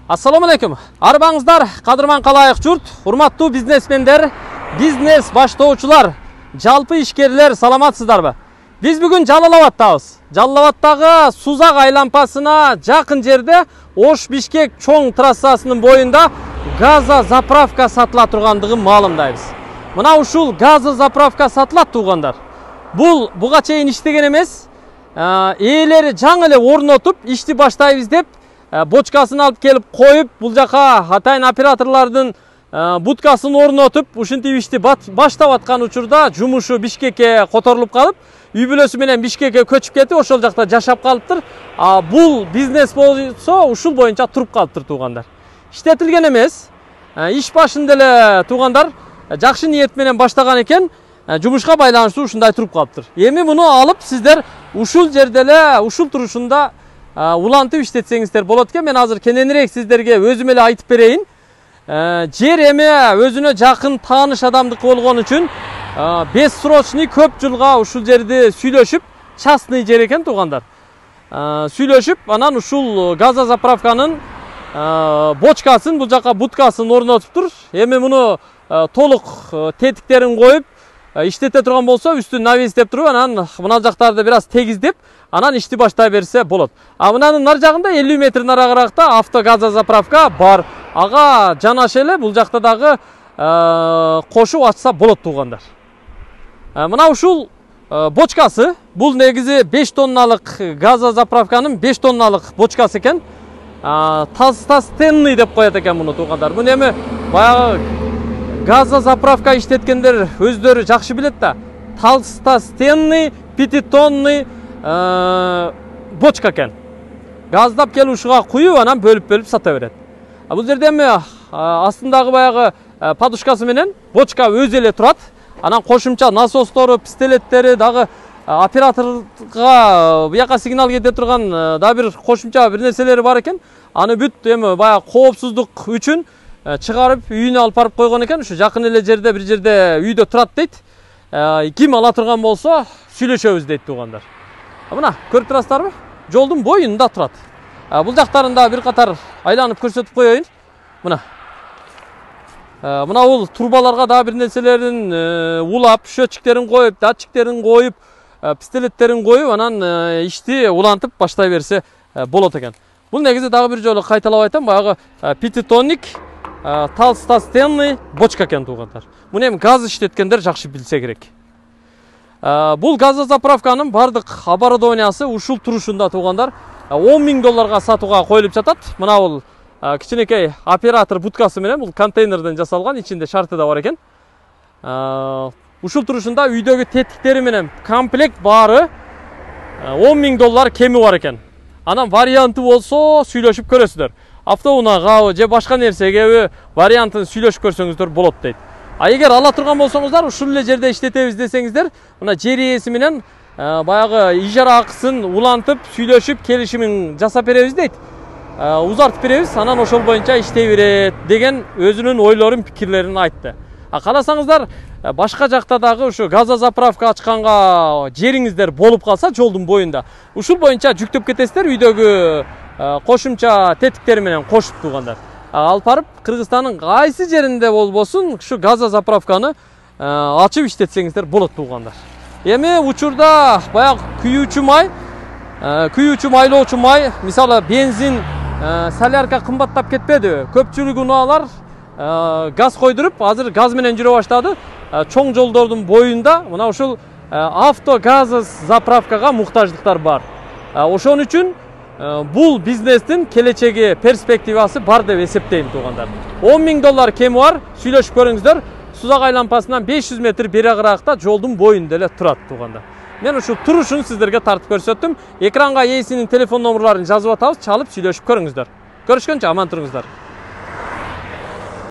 Ассаламу алейкум. Арбаңыздар, кадырман калайык журт, урматтуу бизнесмендер, бизнес баштоочулар, жалпы ишкерлер, саламатсыздарбы? Биз бүгүн Жалал Абадтабыз. Жалал Абадтагы Сузак айланпасына жакын жерде Ош-Бишкек чоң трассасынын боюнда газа заправка сатыла тургандыгын маалымдайбыз. Мына ушул газа заправка сатылат туугандар. Буга чейин иштеген эмес. Ээлери жаңы эле орнотуп, ишти баштайбыз деп бочкасын алып келип коюп, бул жака атайын операторлордун будкасын орнотуп, ушинтип ишти баштап аткан учурда жумушу Бишкекке которулуп калып, үй бүлөсү менен Бишкекке көчүп кетип, ошол жакта жашап калыптыр. Бул бизнес болсо ушул боюнча туруп калыптыр туугандар. Иштетилген эмес. Иш башында эле туугандар жакшы ниет менен баштаган экен, жумушка байланыштуу ушундай туруп калыптыр. Эми муну алып сиздер ушул жерде эле, ушул турушунда улантып иштетсеңиздер болот экен. Мен азыр кененирээк сиздерге өзүм эле айтып берейин. Жер эми өзүнө жакын тааныш адамдыкы болгон үчүн бессрочный көп жылга ушул жерди сүйлөшүп, частный жер экен туугандар. Сүйлөшүп, анан ушул газа заправканын бочкасын, бул жака будкасын орнотуптур. Эми муну толук тетиктерин коюп, иштете турган болсо, үстүн навестеп туруп, анан мына жактарды бир аз тегиздеп, анан ишти баштай берсе болот. Мынанын нар жагында 50 метр нарагыракта автогаза заправка бар. Ага жанаша эле бул жакта дагы кошуп ачса болот туугандар. Мына ушул бочкасы, бул негизи 5 тонналык газа заправканын 5 тонналык бочкасы экен. Толстостенный деп коет экен муну туугандар. Муну эми баягы газа заправка иштеткендер өздөрү жакшы билет да. Толстостенный 5-тонный бочка экен. Газдап келип ушуга куюп, анан бөлүп сата берет. Бул жерде эми астындагы баягы подушкасы менен бочка өзү эле турат. Анан кошумча насостору, пистолеттери дагы операторга буяка сигнал кете турган да бир кошумча бир нерселери бар экен. Аны бүт эми баягы коопсуздук үчүн чыгарып үйүнө алып барып койгон экен. Ушу жакын эле жерде бир жерде үйдө турат дейт. Ким ала турган болсо сүйлөшөбүз дейт туугандар. Мына көрүп турасыздарбы? Жолдун боюнда турат. Бул жактарында бир катар айланып көрсөтүп коеюн. Мына бул турбаларга да бир нерселерин улап, счетчиктерин коюп, датчиктерин коюп, пистолеттерин коюп, анан ишти улантып баштай берсе болот экен. Бул негизи дагы бир жолу кайталап айтам, баягы 5-тонник толстостенный бочка экен туугандар. Муну эми газ иштеткендер жакшы билсе керек. Бул газа заправканын бардык оборудованиясы ушул турушунда туугандар. $10 000 сатууга коюлуп жатат. Мына бул кичинекей оператор будкасы менен, бул контейнерден жасалган, ичинде шарты да бар экен. Ушул турушунда үйдөгү тетиктери менен комплект баары $10 000 кеми бар экен. Анан варианты болсо сүйлөшүп көрөсүздөр. Автоунаага же башка нерсеге вариантын сүйлөшүп көрсөңүздөр болот дейт. Эгер ала турган болсоңуздар, ушул эле жерде иштетебиз десеңиздер, мына жер ээси менен баягы ижара акысын улантып, сүйлөшүп, келишимин жасап беребиз дейт. Узартып беребиз, анан ошол боюнча иштей берет деген өзүнүн ойлорун, пикирлерин айтты. Кааласаңыздар, башка жакта дагы ушу газа заправка ачканга жериңиздер болуп калса жолдун боюнда, ушул боюнча жүктөп кетесиздер, үйдөгү кошумча тетиктери менен кошуп туугандар. Алып барып Кыргызстандын кайсы жеринде болбосун ушу газа заправканы ачып иштетсеңиздер болот туугандар. Эми учурда баягы күйүүчү майлоочу май, мисалы бензин, солярка кымбаттап кетпеди. Көпчүлүк унаалар газ койдуруп, азыр газ менен жүрө баштады. Чоң жолдордун боюнда мына ушул автогаз заправкага муктаждыктар бар. Ошон үчүн бул бизнестин келечеги, перспективасы бар деп эсептейм туугандар. $10 000 кеми бар, сүйлөшүп көрүңүздөр. Сузак айланпасынан 500 метр бери агыракта жолдун боюнда эле турат туугандар. Мен ушул турушун сиздерге тартып көрсөттүм. Экранга ээсинин телефон номерларын жазып атабыз, чалып сүйлөшүп көрүңүздөр. Көрүшкөнчө аман туруңуздар.